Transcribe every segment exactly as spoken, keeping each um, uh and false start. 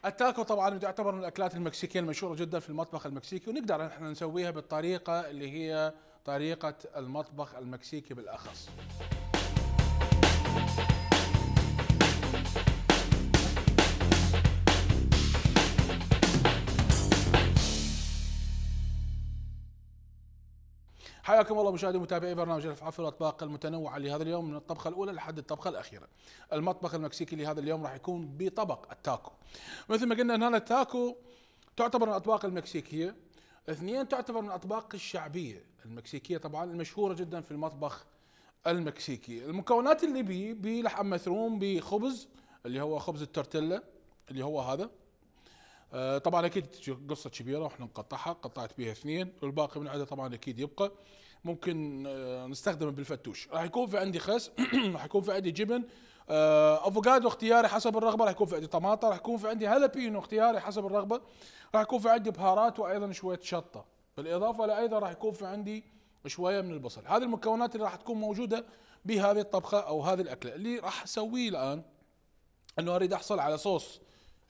التاكو طبعا تعتبر من الاكلات المكسيكيه المشهوره جدا في المطبخ المكسيكي، ونقدر احنا نسويها بالطريقه اللي هي طريقه المطبخ المكسيكي بالاخص. حياكم الله مشاهدي ومتابعي برنامج الافعال والاطباق المتنوعه لهذا اليوم، من الطبخه الاولى لحد الطبخه الاخيره. المطبخ المكسيكي لهذا اليوم راح يكون بطبق التاكو. مثل ما قلنا ان هنا التاكو تعتبر من الاطباق المكسيكيه، اثنين تعتبر من الاطباق الشعبيه المكسيكيه طبعا المشهوره جدا في المطبخ المكسيكي. المكونات اللي بيه بيه لحم مثروم، بخبز اللي هو خبز التورتيلا اللي هو هذا. آه طبعا اكيد قصه كبيره واحنا نقطعها، قطعت بيها اثنين والباقي من عندها طبعا اكيد يبقى. ممكن آه نستخدمه بالفتوش. راح يكون في عندي خس، راح يكون في عندي جبن، آه افوكادو اختياري حسب الرغبه، راح يكون في عندي طماطم، راح يكون في عندي هالبينو اختياري حسب الرغبه، راح يكون في عندي بهارات وايضا شويه شطه، بالاضافه لايضا راح يكون في عندي شويه من البصل. هذه المكونات اللي راح تكون موجوده بهذه الطبخه او هذه الاكله. اللي راح اسويه الان انه اريد احصل على صوص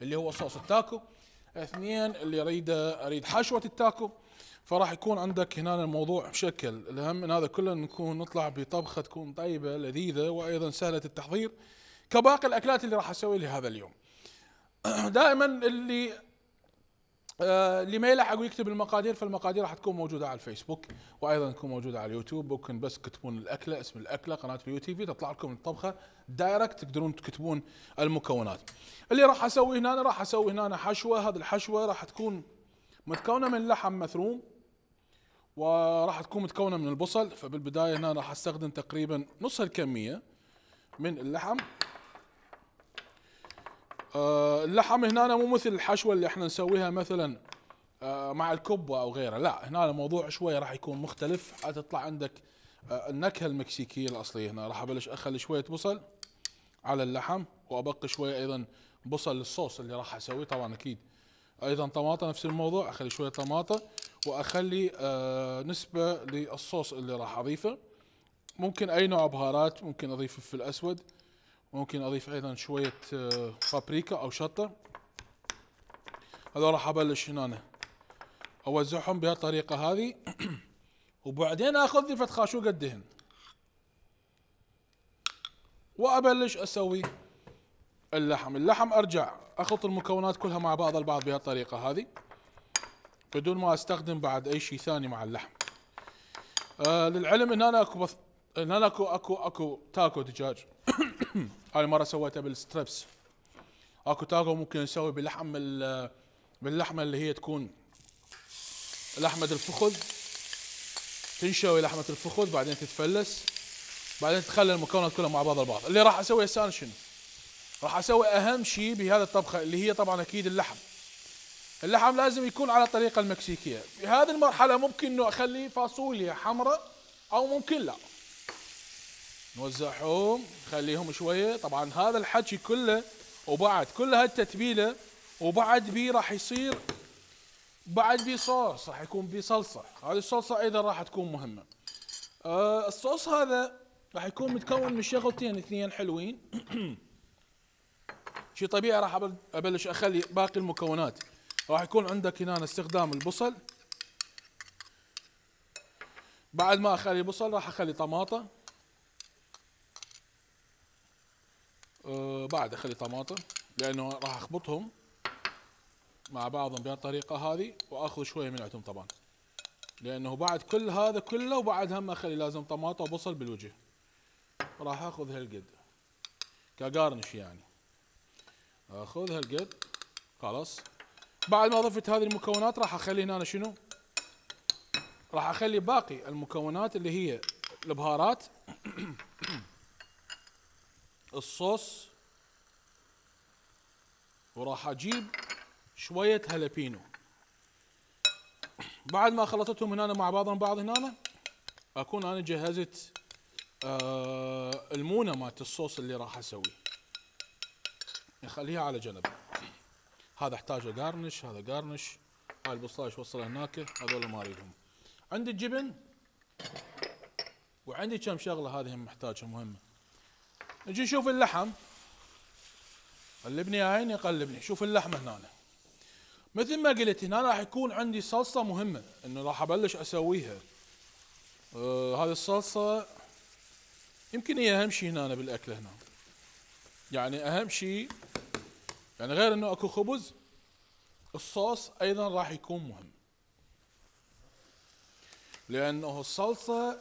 اللي هو صوص التاكو. اثنين اللي اريد اريد حشوه التاكو. فراح يكون عندك هنا الموضوع بشكل الاهم من هذا كله نكون نطلع بطبخه تكون طيبه لذيذه وايضا سهله التحضير كباقي الاكلات اللي راح اسوي لهذا اليوم. دائما اللي آه اللي ما يلحق ويكتب المقادير، فالمقادير راح تكون موجوده على الفيسبوك وايضا تكون موجوده على اليوتيوب. ممكن بس تكتبون الاكله، اسم الاكله، قناه اليو تي في، تطلع لكم الطبخه دايركت، تقدرون تكتبون المكونات. اللي راح اسوي هنا راح اسوي هنا حشوه. هذه الحشوه راح تكون متكونه من لحم مثروم وراح تكون متكونه من البصل. فبالبدايه هنا راح استخدم تقريبا نص الكميه من اللحم. آه اللحم هنا مو مثل الحشوه اللي احنا نسويها مثلا آه مع الكبه او غيره، لا هنا الموضوع شويه راح يكون مختلف، حتطلع عندك آه النكهه المكسيكيه الاصليه. هنا راح ابلش اخلي شويه بصل على اللحم، وابقي شويه ايضا بصل للصوص اللي راح اسويه. طبعا اكيد ايضا طماطم نفس الموضوع، اخلي شويه طماطم واخلي آه نسبه للصوص اللي راح اضيفه. ممكن اي نوع بهارات، ممكن اضيف فلفل اسود، ممكن اضيف ايضا شويه آه بابريكا او شطه. هذول راح ابلش هنا اوزعهم بهالطريقه هذه. وبعدين اخذ لي فد خاشوقه دهن وابلش اسوي اللحم. اللحم ارجع اخلط المكونات كلها مع بعض البعض بهالطريقه هذه بدون ما استخدم بعد اي شيء ثاني مع اللحم. آه للعلم ان انا اكو بث... ان انا اكو اكو اكو تاكو دجاج. هاي مره سويتها بالستريبس. اكو تاكو ممكن نسوي بلحم ال... باللحمه اللي هي تكون لحمه الفخذ، تنشوي لحمه الفخذ بعدين تتفلس، بعدين تخلي المكونات كلها مع بعض البعض. اللي راح اسويه هسه شنو؟ راح اسوي اهم شيء بهذه الطبخه اللي هي طبعا اكيد اللحم. اللحم لازم يكون على الطريقه المكسيكيه. بهذه المرحله ممكن انه اخلي فاصوليا حمراء او ممكن لا. نوزعهم نخليهم شويه. طبعا هذا الحكي كله وبعد كل هالتتبيله وبعد بيه راح يصير بعد بيه صوص، راح يكون بيه صلصه. هذه الصلصه ايضا راح تكون مهمه. آه الصوص هذا راح يكون متكون من شغلتين اثنين حلوين. شيء طبيعي راح ابلش اخلي باقي المكونات. راح يكون عندك هنا استخدام البصل. بعد ما اخلي بصل راح اخلي طماطم. أه بعد اخلي طماطم لانه راح اخبطهم مع بعضهم بهالطريقه هذه واخذ شويه من عندهم طبعا، لانه بعد كل هذا كله وبعد هم اخلي لازم طماطم وبصل بالوجه. راح اخذ هالقد كقارنش يعني، اخذ هالقد خلاص. بعد ما ضفت هذه المكونات راح اخلي هنا شنو؟ راح اخلي باقي المكونات اللي هي البهارات، الصوص، وراح اجيب شوية هالبينو. بعد ما خلطتهم هنا مع بعضهم بعض هنا اكون انا جهزت آه المونة مالت الصوص اللي راح اسويه، نخليها على جنب. هذا احتاجه جارنش، هذا جارنش، هاي البصلاش وصلها هناك، هذول ما اريدهم. عندي الجبن وعندي كم شغله هذه هم محتاجها مهمه. نجي نشوف اللحم. قلبني يا عيني قلبني. شوف اللحمه هنا مثل ما قلت هنا راح يكون عندي صلصه مهمه انه راح ابلش اسويها. آه هذه الصلصه يمكن هي اهم شيء هنا بالاكله هنا، يعني اهم شيء، يعني غير انه اكو خبز الصوص ايضا راح يكون مهم، لانه الصلصه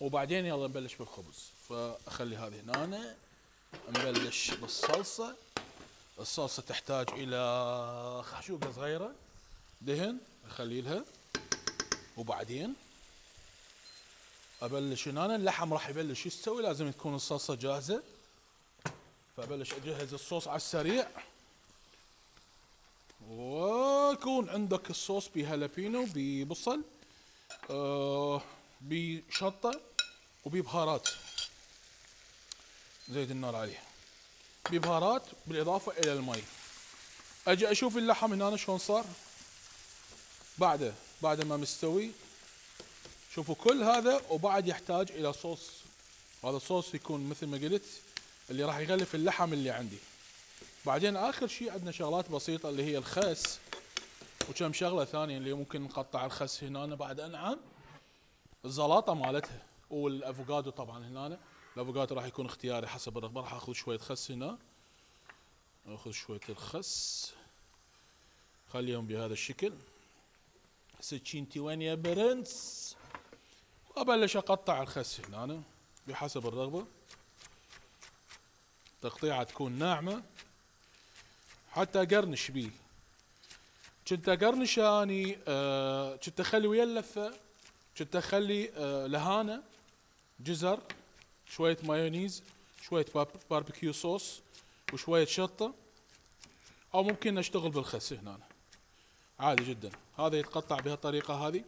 وبعدين يلا نبلش بالخبز. فاخلي هذه هنا نبلش بالصلصه. الصلصه تحتاج الى خشوقه صغيره دهن اخلي لها، وبعدين ابلش هنا. اللحم راح يبلش يستوي، لازم تكون الصلصه جاهزه. فابلش اجهز الصوص على السريع، ويكون عندك الصوص بهالبينو ببصل آه بشطه وببهارات، زيت النار عليه ببهارات بالاضافه الى المي. اجي اشوف اللحم هنا شلون صار بعده بعد ما مستوي. شوفوا كل هذا وبعد يحتاج الى صوص. هذا الصوص يكون مثل ما قلت اللي راح يغلف اللحم اللي عندي. بعدين اخر شيء عندنا شغلات بسيطه اللي هي الخس، وكم شغله ثانيه اللي ممكن نقطع الخس هنا بعد انعم. الزلاطه مالتها والافوكادو طبعا هنا. الافوكادو راح يكون اختياري حسب الرغبه. راح اخذ شويه خس هنا، اخذ شويه الخس خليهم بهذا الشكل. سكينتي وين يا برنس؟ وابلش اقطع الخس هنا بحسب الرغبه. تقطيعه تكون ناعمه حتى اقرنش بيه. كنت اقرنش اني آه كنت اخلي ويا اللفه، كنت اخلي آه لهانه جزر، شويه مايونيز، شويه باربيكيو صوص، وشويه شطه، او ممكن اشتغل بالخس هنا عادي جدا. هذا يتقطع بهالطريقه هذه،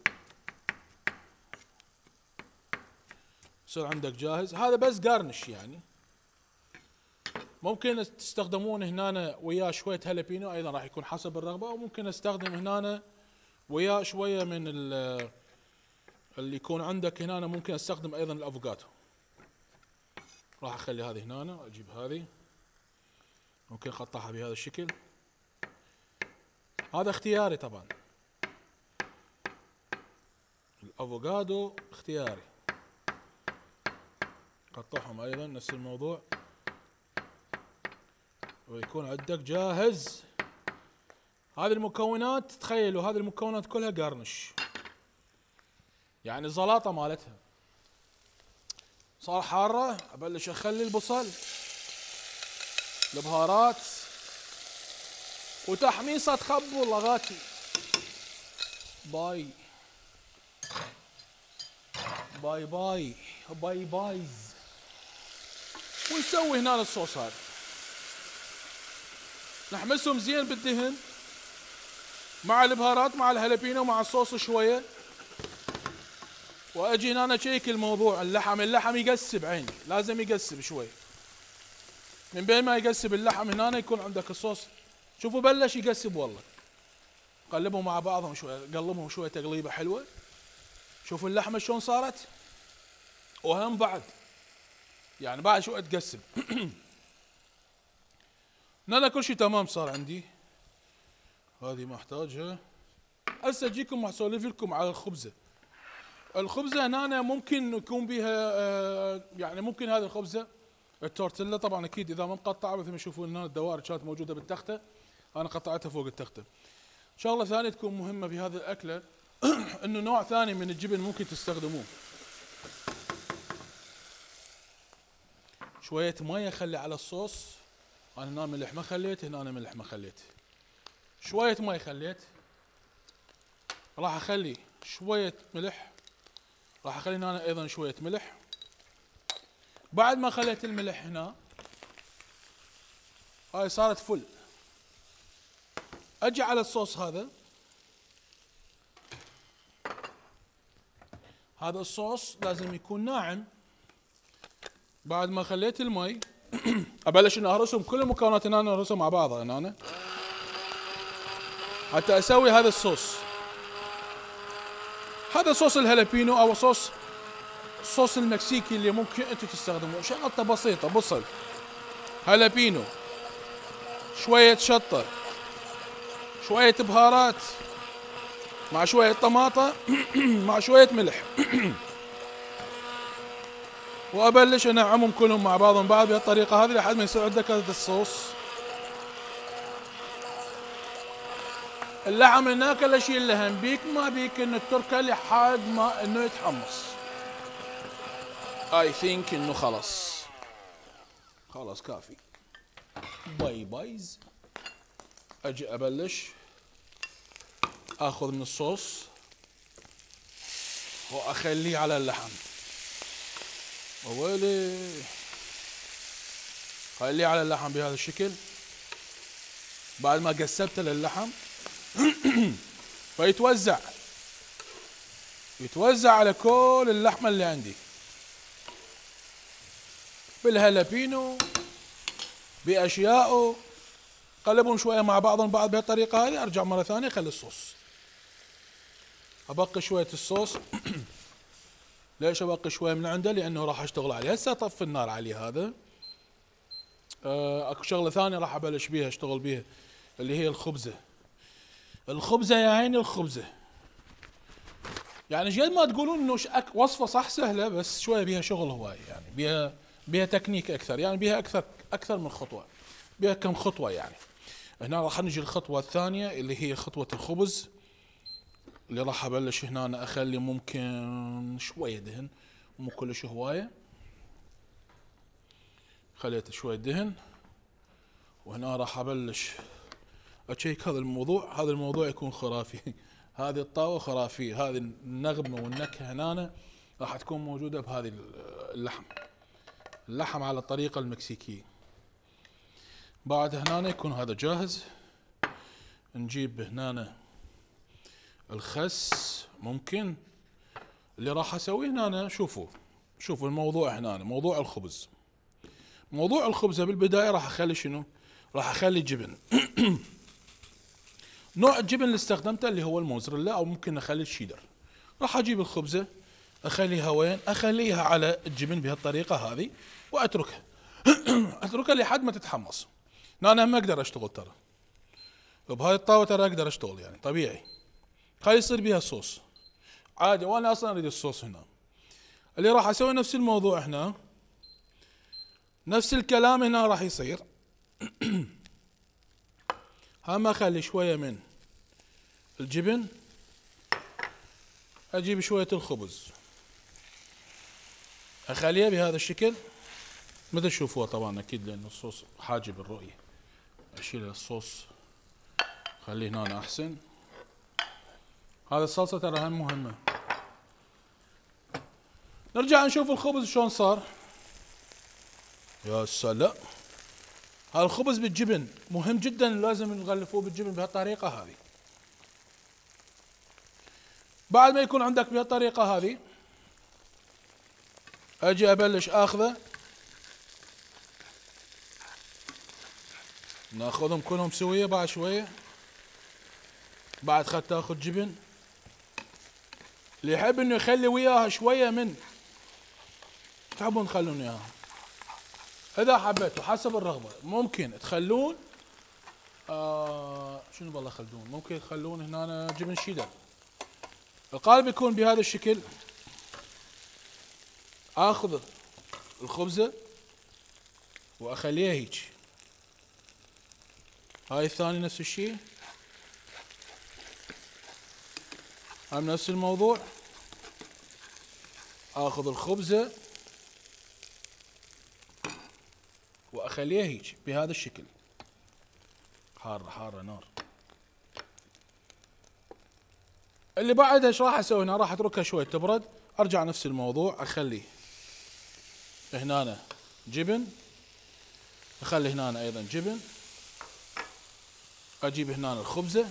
يصير عندك جاهز. هذا بس قارنش يعني. ممكن تستخدمون هنا وياه شويه هالبينو ايضا راح يكون حسب الرغبه، وممكن استخدم هنا وياه شويه من اللي يكون عندك هنا. ممكن استخدم ايضا الافوكادو. راح اخلي هذه هنا، اجيب هذه ممكن اقطعها بهذا الشكل. هذا اختياري طبعا، الافوكادو اختياري. قطعهم ايضا نفس الموضوع، ويكون عندك جاهز. هذه المكونات تخيلوا هذه المكونات كلها قرنش، يعني الزلاطه مالتها صار حاره. ابلش اخلي البصل، البهارات، وتحميصه تخبوا لغاتي. باي باي باي باي بايز. ونسوي هنا الصوص هذا، نحمسهم زين بالدهن مع البهارات مع الهالبينو مع الصوص شويه. واجي هنا اشيك الموضوع. اللحم اللحم يقسب عيني، لازم يقسب شوي. من بين ما يقسب اللحم هنا يكون عندك الصوص. شوفوا بلش يقسب والله. قلبهم مع بعضهم شوي، قلبهم شوي تقليبه حلوه. شوفوا اللحمه شلون صارت، وهم بعد يعني بعد شوي تقسم. هنا كل شيء تمام صار عندي. هذه ما احتاجها. هسه اجيكم اسولف لكم على الخبزه. الخبزه هنا ممكن يكون بها آه يعني ممكن هذه الخبزه التورتيلا طبعا اكيد اذا ما مقطعه مثل ما تشوفون هنا الدوائر كانت موجوده بالتخته، انا قطعتها فوق التخته. شغله ثانيه تكون مهمه بهذه الاكله انه نوع ثاني من الجبن ممكن تستخدموه. شويه ميه خلي على الصوص. انا هنا ملح ما خليت، هنا أنا ملح ما خليت. شويه مي خليت. راح اخلي شويه ملح. راح اخلي هنا ايضا شويه ملح. بعد ما خليت الملح هنا هاي صارت فل. اجي على الصوص هذا. هذا الصوص لازم يكون ناعم. بعد ما خليت المي ابلش ان اهرسهم كل المكونات هنا اهرسهم مع بعضها هنا حتى اسوي هذا الصوص. هذا صوص الهالبينو او صوص الصوص المكسيكي اللي ممكن انتم تستخدموه. شغلته بسيطه، بصل، هالبينو، شوية شطة، شوية بهارات، مع شوية طماطة مع شوية ملح. وابلش انعمهم كلهم مع بعضهم بعض بهالطريقة هذه لحد ما يصير عندك هذا الصوص. اللحم هناك لا شيء لهم بيك ما بيك انه تتركه لحد ما انه يتحمص. اي ثينك انه خلص خلاص كافي. باي بايز. اجي ابلش اخذ من الصوص واخليه على اللحم. ويلي خليه على اللحم بهذا الشكل بعد ما قسبته للحم. فيتوزع يتوزع على كل اللحمة اللي عندي بالهالابينو بأشيائه. قلبهم شوية مع بعضهم بعض بهالطريقة هذه. ارجع مرة ثانية اخلي الصوص. ابقي شوية الصوص. ليش ابقي شوية من عنده؟ لانه راح اشتغل عليه. هسه اطفي النار عليه هذا. اكو شغلة ثانية راح ابلش بيها اشتغل بيها اللي هي الخبزة. الخبزة يا عيني الخبزة. يعني جد ما تقولون انه وصفة صح سهلة بس شوية بيها شغل هواي. يعني بيها بيها تكنيك اكثر. يعني بيها اكثر اكثر من خطوة. بيها كم خطوة يعني. هنا راح نجي الخطوة الثانية اللي هي خطوة الخبز اللي راح ابلش هنا أنا اخلي ممكن شوية دهن مو كلش هواية. خليت شوية دهن وهنا راح ابلش اشيك هذا الموضوع. هذا الموضوع يكون خرافي. هذه الطاوة خرافية. هذه النغمة والنكهة هنا راح تكون موجودة بهذه اللحم. اللحم على الطريقة المكسيكية. بعد هنا يكون هذا جاهز. نجيب هنا الخس ممكن اللي راح اسويه هنا. شوفوا شوفوا الموضوع هنا موضوع الخبز. موضوع الخبزة بالبداية راح اخلي شنو؟ راح اخلي جبن. نوع الجبن اللي استخدمته اللي هو الموزريلا او ممكن اخلي الشيدر. راح اجيب الخبزة اخليها وين؟ اخليها على الجبن بهالطريقة هذه واتركها. اتركها لحد ما تتحمص. انا ما اقدر اشتغل ترى. بهاي الطاوة ترى اقدر اشتغل يعني طبيعي. خلي يصير بيها صوص عادي. وانا اصلا اريد الصوص هنا. اللي راح اسوي نفس الموضوع هنا. نفس الكلام هنا راح يصير. هم اخلي شوية من الجبن. اجيب شوية الخبز اخليها بهذا الشكل مثل تشوفوها طبعا اكيد لان الصوص حاجب الرؤية. اشيل الصوص خليه هنا احسن. هذا الصلصة ترى هم مهمة. نرجع نشوف الخبز شلون صار. يا سلام. هذا الخبز بالجبن مهم جدا. لازم نغلفوه بالجبن بهالطريقة هذه. بعد ما يكون عندك بهالطريقة هذه اجي ابلش اخذه. ناخذهم كلهم سوية بعد شوية. بعد خد تاخذ جبن. اللي يحب انه يخلي وياها شوية من تحبون تخلون اياها. اذا حبيتوا حسب الرغبة ممكن تخلون آه شنو بالله خلدون ممكن تخلون هنا جبن شيدر. القالب يكون بهذا الشكل. اخذ الخبزة واخليها هيك. هاي الثاني نفس الشيء. هم نفس الموضوع. اخذ الخبزة واخليها هيك بهذا الشكل. حارة حارة نار. اللي بعدها ايش راح اسوي هنا؟ راح اتركها شوي تبرد. ارجع نفس الموضوع اخلي هنا جبن. اخلي هنا ايضا جبن. اجيب هنا الخبزة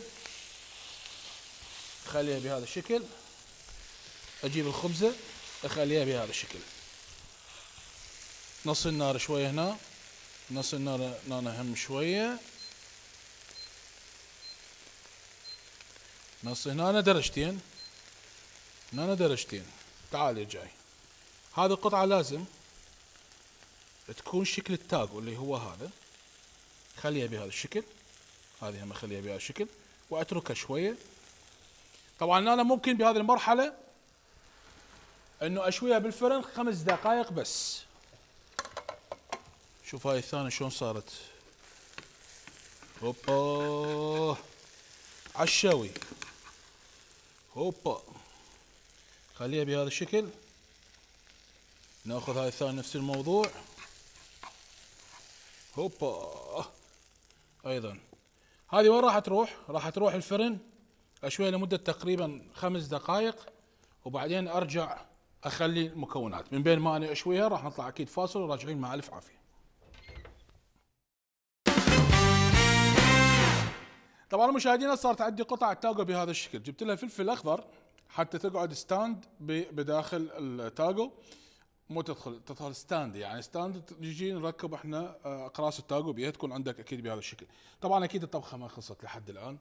اخليها بهذا الشكل. اجيب الخبزة اخليها بهذا الشكل. نص النار شوية هنا. نص النار هنا هم شوية. نص هنا درجتين. هنا درجتين. تعال يا جاي. هذه القطعة لازم تكون شكل التاغو اللي هو هذا. خليها بهذا الشكل، هذه هم اخليها بهذا الشكل واتركها شويه. طبعا انا ممكن بهذه المرحله انه اشويها بالفرن خمس دقائق بس. شوف هاي الثانيه شلون صارت، هوبا عالشوي، هوبا خليها بهذا الشكل. ناخذ هاي الثانيه نفس الموضوع، هوبا ايضا. هذه وين راح تروح؟ راح تروح الفرن اشويها لمده تقريبا خمس دقائق، وبعدين ارجع اخلي المكونات. من بين ما انا اشويها راح نطلع اكيد فاصل وراجعين مع الف عافيه. طبعا المشاهدين صارت عندي قطع تاجو بهذا الشكل، جبت لها فلفل اخضر حتى تقعد ستاند بداخل التاجو، مو تدخل تدخل ستاند، يعني ستاند نجي نركب احنا اقراص التاجو بيها، تكون عندك اكيد بهذا الشكل. طبعا اكيد الطبخه ما خلصت لحد الان،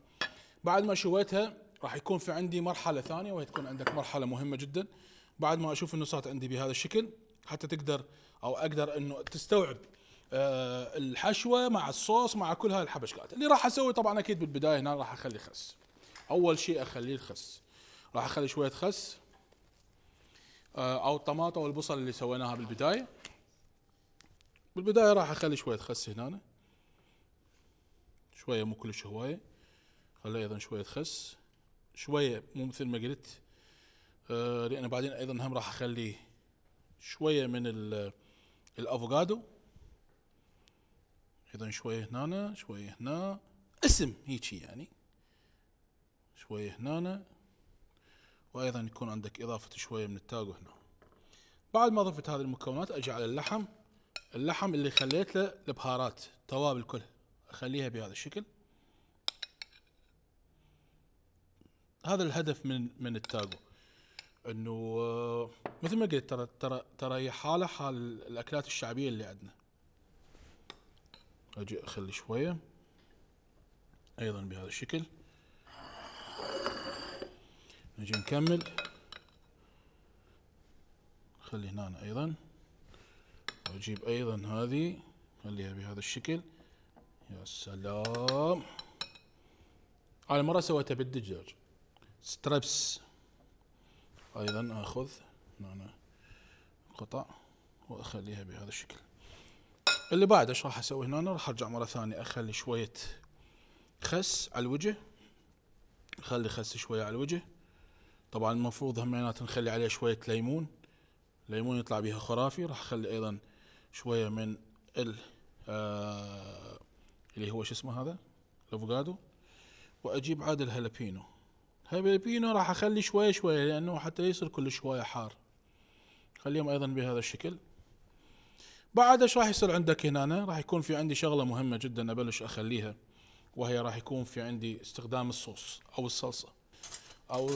بعد ما شويتها راح يكون في عندي مرحله ثانيه، وهي تكون عندك مرحله مهمه جدا. بعد ما اشوف انه صارت عندي بهذا الشكل حتى تقدر او اقدر انه تستوعب أه الحشوه مع الصوص مع كل هاي الحبشكات اللي راح اسوي. طبعا اكيد بالبدايه هنا راح اخلي خس، اول شيء اخليه الخس، راح اخلي شويه خس أه او الطماطه والبصل اللي سويناها بالبدايه. بالبدايه راح اخلي شويه خس هنا، شويه مو كلش هوايه، خلي ايضا شويه خس، شويه مو مثل ما قلت أه لان بعدين ايضا هم راح اخلي شويه من الافوكادو، ايضا شويه هنا شويه هنا، اسم هيجي يعني، شويه هنا، وايضا يكون عندك اضافه شويه من التاجو هنا. بعد ما ضفت هذه المكونات اجي على اللحم، اللحم اللي خليت له البهارات توابل كلها اخليها بهذا الشكل. هذا الهدف من من التاجو، انه مثل ما قلت ترى ترى ترى هي حاله حال الاكلات الشعبيه اللي عندنا. اجي اخلي شويه ايضا بهذا الشكل، نجي نكمل خلي هنا ايضا، واجيب ايضا هذه خليها بهذا الشكل. يا سلام، انا مره سويتها بالدجاج ستريبس، ايضا اخذ هنا قطع واخليها بهذا الشكل. اللي بعد ايش راح اسوي هنا؟ راح ارجع مره ثانيه اخلي شويه خس على الوجه، خلي خس شويه على الوجه. طبعا المفروض همينات نخلي عليه شويه ليمون، ليمون يطلع بها خرافي. راح اخلي ايضا شويه من ال آه اللي هو شو اسمه هذا الافوكادو، واجيب عاد الهالبينو. هالبينو راح اخلي شويه شويه لانه حتى يصير كل شويه حار، خليهم ايضا بهذا الشكل. بعد ايش راح يصير عندك هنا؟ راح يكون في عندي شغله مهمه جدا ابلش اخليها، وهي راح يكون في عندي استخدام الصوص او الصلصه او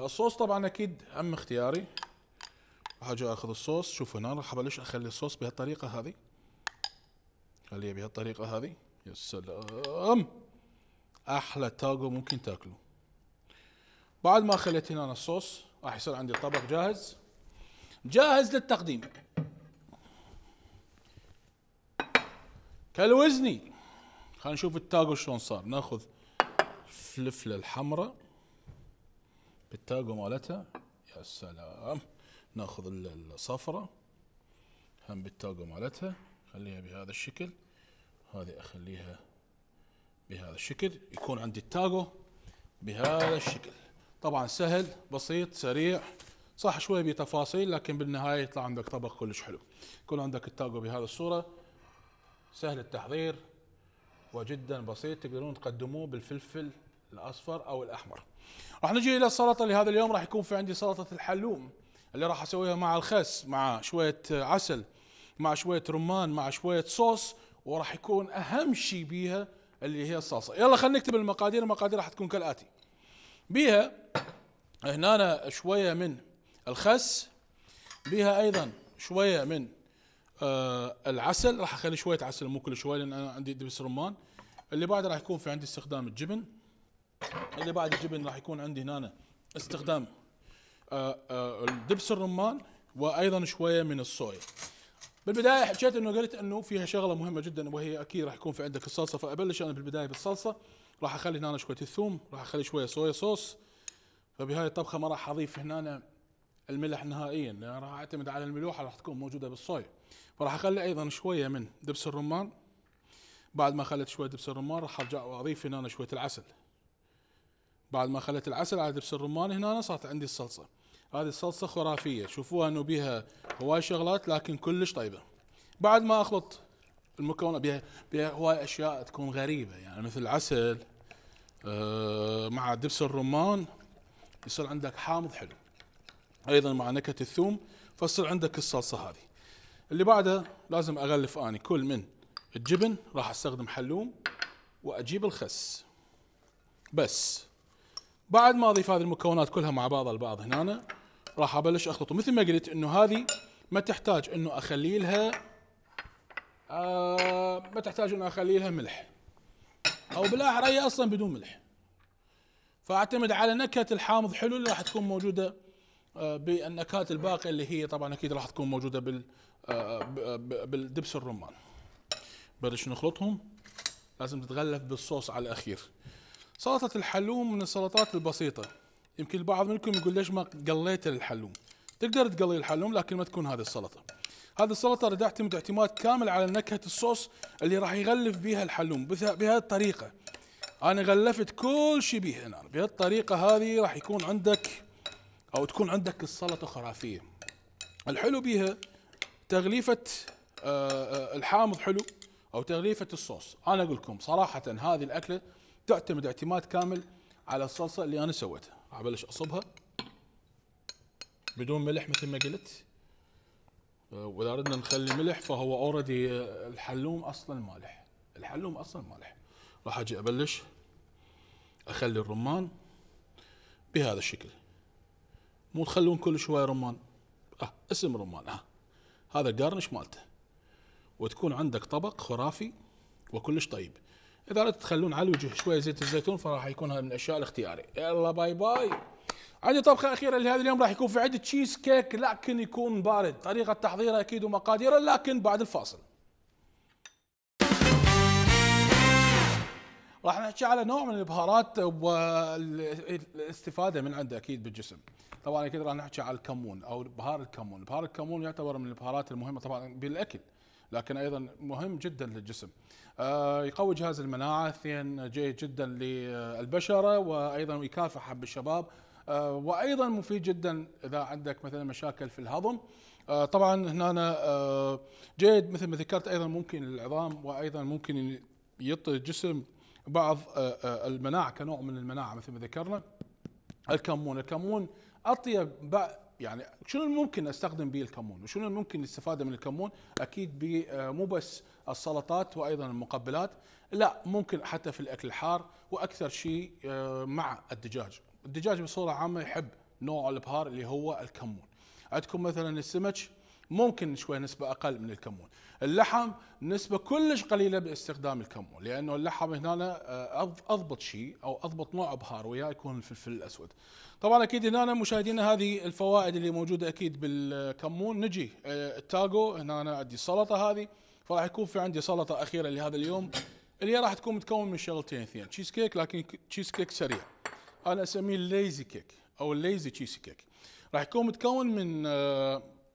الصوص. طبعا اكيد هم اختياري، راح اجي اخذ الصوص. شوف هنا راح ابلش اخلي الصوص بهالطريقه هذه، خليه بهالطريقه هذه. يا سلام، احلى تاجو ممكن تاكله. بعد ما خليت هنا الصوص راح يصير عندي الطبق جاهز جاهز للتقديم. كالوزني، خلينا نشوف التاجو شلون صار. ناخذ الفلفله الحمراء بالتاجو مالتها، يا سلام. ناخذ الصفراء هم بالتاجو مالتها، خليها بهذا الشكل. هذه اخليها بهذا الشكل، يكون عندي التاجو بهذا الشكل. طبعا سهل بسيط سريع، صح شوي بتفاصيل لكن بالنهايه يطلع عندك طبق كلش حلو. يكون عندك التاجو بهذه الصوره، سهل التحضير وجدا بسيط. تقدرون تقدموه بالفلفل الاصفر او الاحمر. راح نجي الى السلطه لهذا اليوم. راح يكون في عندي سلطه الحلوم اللي راح اسويها مع الخس، مع شويه عسل، مع شويه رمان، مع شويه صوص، وراح يكون اهم شيء بيها اللي هي الصلصه. يلا خلينا نكتب المقادير. المقادير راح تكون كالاتي: بيها هنا شويه من الخس، بيها ايضا شويه من آه العسل، راح اخلي شويه عسل مو كل شويه لان انا عندي دبس رمان. اللي بعد راح يكون في عندي استخدام الجبن. اللي بعد الجبن راح يكون عندي هنا استخدام آه آه الدبس الرمان، وايضا شويه من الصويا. بالبدايه حكيت انه قلت انه فيها شغله مهمه جدا، وهي اكيد راح يكون في عندك الصلصه. فابلش انا بالبدايه بالصلصه، راح اخلي هنا شويه الثوم، راح اخلي شويه صويا صوص. فبهاي الطبخه ما راح اضيف هنا الملح نهائيا، لان راح اعتمد على الملوحه راح تكون موجوده بالصويا. فراح اخلي ايضا شويه من دبس الرمان. بعد ما خليت شويه دبس الرمان راح ارجع واضيف هنا شويه العسل. بعد ما خليت العسل على دبس الرمان هنا صارت عندي الصلصه. هذه الصلصه خرافيه، شوفوها انه بيها هواي شغلات لكن كلش طيبه. بعد ما اخلط المكونات بيها, بيها هواي اشياء تكون غريبه، يعني مثل العسل آه مع دبس الرمان يصير عندك حامض حلو، ايضا مع نكهه الثوم، فتصير عندك الصلصه هذه. اللي بعدها لازم اغلف اني كل من الجبن، راح استخدم حلوم واجيب الخس بس. بعد ما اضيف هذه المكونات كلها مع بعضها البعض هنا، راح ابلش اخلطه. مثل ما قلت انه هذه ما تحتاج انه اخلي لها آه ما تحتاج انه اخلي لها ملح، او بالاحرى هي اصلا بدون ملح. فاعتمد على نكهه الحامض حلو اللي راح تكون موجوده آه بالنكهات الباقيه، اللي هي طبعا اكيد راح تكون موجوده بال آه بالدبس الرمان. بلش نخلطهم، لازم تتغلف بالصوص على الاخير. سلطه الحلوم من السلطات البسيطه، يمكن البعض منكم يقول ليش ما قليت الحلوم؟ تقدر تقلي الحلوم لكن ما تكون هذه السلطه. هذه السلطه راح تعتمد اعتماد كامل على نكهه الصوص اللي راح يغلف بها الحلوم بهذه الطريقه. انا غلفت كل شيء بها هنا بهالطريقه هذه، راح يكون عندك او تكون عندك السلطه خرافيه. الحلو بها تغليفه الحامض حلو او تغليفه الصوص. انا اقول لكم صراحه هذه الاكله تعتمد اعتماد كامل على الصلصه اللي انا سويتها. ابلش اصبها بدون ملح مثل ما قلت، واذا ردنا نخلي ملح فهو اوريدي الحلوم اصلا مالح، الحلوم اصلا مالح. راح اجي ابلش اخلي الرمان بهذا الشكل، مو تخلون كل شويه رمان، اه اسم رمان، اه هذا الجارنش مالته، وتكون عندك طبق خرافي وكلش طيب. اذا ردت تخلون على الوجه شويه زيت الزيتون فراح يكون هذا من الاشياء الاختياري. يلا باي باي. عندي طبخه اخيره لهذا اليوم، راح يكون في عندي تشيز كيك لكن يكون بارد. طريقه تحضيره اكيد ومقاديره لكن بعد الفاصل. راح نحكي على نوع من البهارات والاستفاده من عنده اكيد بالجسم. طبعا اكيد راح نحكي على الكمون او بهار الكمون. بهار الكمون يعتبر من البهارات المهمه طبعا بالاكل، لكن ايضا مهم جدا للجسم. آه يقوي جهاز المناعه، اثنين جيد جدا للبشره، وايضا يكافح بالشباب، آه وايضا مفيد جدا اذا عندك مثلا مشاكل في الهضم. آه طبعا هنا آه جيد مثل ما ذكرت، ايضا ممكن للعظام، وايضا ممكن يعطي الجسم بعض آه آه المناعه كنوع من المناعه مثل ما ذكرنا. الكمون، الكمون اطيب يعني شنو ممكن استخدم به الكمون وشنو ممكن الاستفاده من الكمون؟ اكيد مو بس السلطات وايضا المقبلات، لا ممكن حتى في الاكل الحار، واكثر شيء مع الدجاج. الدجاج بصوره عامه يحب نوع البهار اللي هو الكمون. عندكم مثلا السمك ممكن شوي نسبه اقل من الكمون. اللحم نسبه كلش قليله باستخدام الكمون، لانه اللحم هنا اضبط شيء او اضبط نوع بهار وياه يكون الفلفل الاسود. طبعا اكيد هنا مشاهدينا هذه الفوائد اللي موجوده اكيد بالكمون. نجي التاجو، هنا أنا عندي السلطه هذه، فراح يكون في عندي سلطه اخيره لهذا اليوم اللي راح تكون متكون من شغلتين اثنين، تشيز كيك، لكن تشيز كيك سريع، انا اسميه الليزي كيك او الليزي تشيز كيك. راح يكون متكون من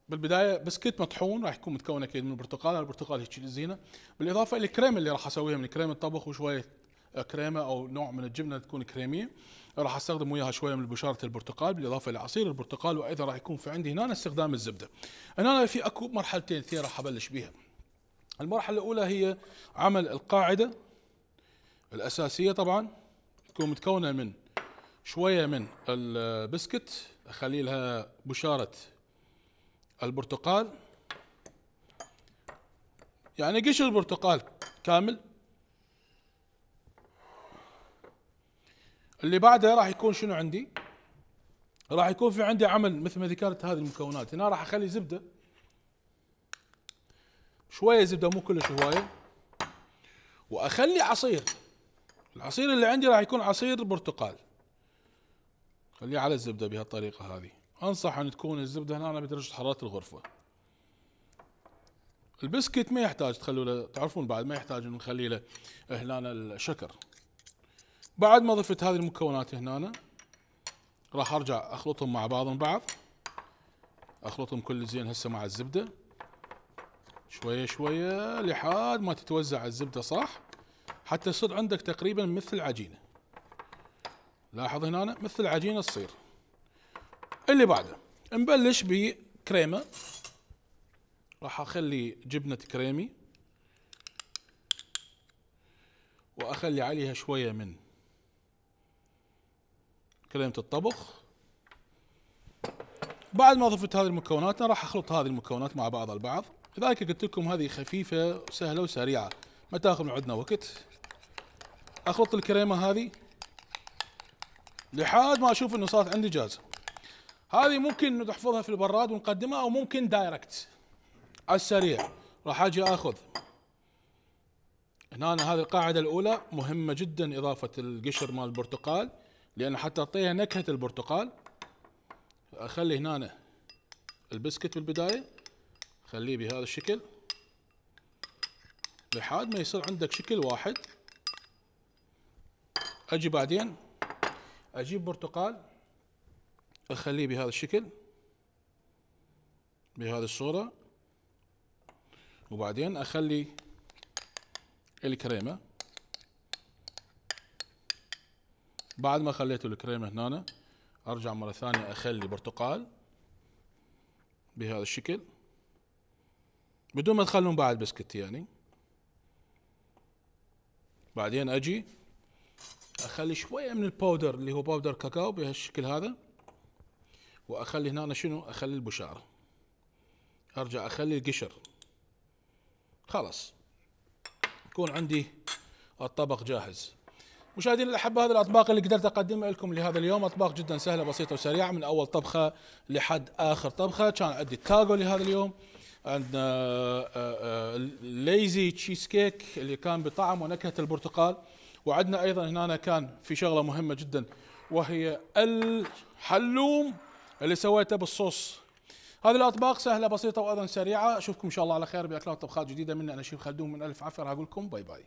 بالبدايه بسكت مطحون، راح يكون متكون اكيد من البرتقال، البرتقال هيك الزينه، بالاضافه الى الكريمه اللي راح اسويها من كريمه الطبخ وشويه كريمه او نوع من الجبنه تكون كريميه، راح استخدم وياها شويه من بشاره البرتقال بالاضافه الى عصير البرتقال، وايضا راح يكون في عندي هنا استخدام الزبده. هنا في اكو مرحلتين اثنين راح ابلش بها. المرحله الاولى هي عمل القاعده الاساسيه، طبعا تكون متكونه من شويه من البسكت، اخلي لها بشاره البرتقال، يعني قشر البرتقال كامل. اللي بعده راح يكون شنو عندي؟ راح يكون في عندي عمل مثل ما ذكرت هذه المكونات. هنا راح اخلي زبده، شويه زبده مو كلش هوايه، واخلي عصير. العصير اللي عندي راح يكون عصير برتقال، خليه على الزبده بهالطريقه هذه. انصح ان تكون الزبده هنا بدرجه حراره الغرفه. البسكت ما يحتاج تخلوا له، تعرفون بعد ما يحتاج نخلي له هنا الشكر. بعد ما ضفت هذه المكونات هنا راح ارجع اخلطهم مع بعضهم بعض، اخلطهم كل زين هسه مع الزبده شويه شويه لحد ما تتوزع الزبده صح، حتى يصير عندك تقريبا مثل عجينه. لاحظ هنا مثل عجينه تصير. اللي بعده نبلش بكريمه، راح اخلي جبنه كريمي واخلي عليها شويه من كريمه الطبخ. بعد ما ضفت هذه المكونات راح اخلط هذه المكونات مع بعض البعض. لذلك قلت لكم هذه خفيفه وسهله وسريعه ما تاخذ من عندنا وقت. اخلط الكريمه هذه لحد ما اشوف انه صارت عندي جاهزه. هذه ممكن نحفظها في البراد ونقدمها، او ممكن دايركت على السريع. راح اجي اخذ هنا هذه القاعده الاولى مهمه جدا، اضافه القشر مال البرتقال لان حتى تعطيها نكهه البرتقال. اخلي هنا البسكت بالبدايه خليه بهذا الشكل لحد ما يصير عندك شكل واحد. اجي بعدين اجيب برتقال اخليه بهذا الشكل بهذه الصورة، وبعدين اخلي الكريمة. بعد ما خليت الكريمة هنا ارجع مرة ثانية اخلي برتقال بهذا الشكل بدون ما تخلون بعد بسكت يعني. بعدين اجي اخلي شوية من الباودر اللي هو باودر كاكاو بهالشكل هذا، واخلي هنا شنو؟ اخلي البشارة. ارجع اخلي القشر. خلاص يكون عندي الطبق جاهز. مشاهدينا الاحباء، هذه الاطباق اللي قدرت اقدمها لكم لهذا اليوم، اطباق جدا سهله بسيطه وسريعه من اول طبخه لحد اخر طبخه. كان عندي التاكو لهذا اليوم، عندنا ليزي تشيز كيك اللي كان بطعم ونكهه البرتقال، وعندنا ايضا هنا كان في شغله مهمه جدا وهي الحلوم اللي سويته بالصوص. هذه الاطباق سهله بسيطه وايضا سريعه. اشوفكم ان شاء الله على خير باكلات وطبخات جديده. مني انا شيف خلدون من الف عفر، اقول لكم باي باي.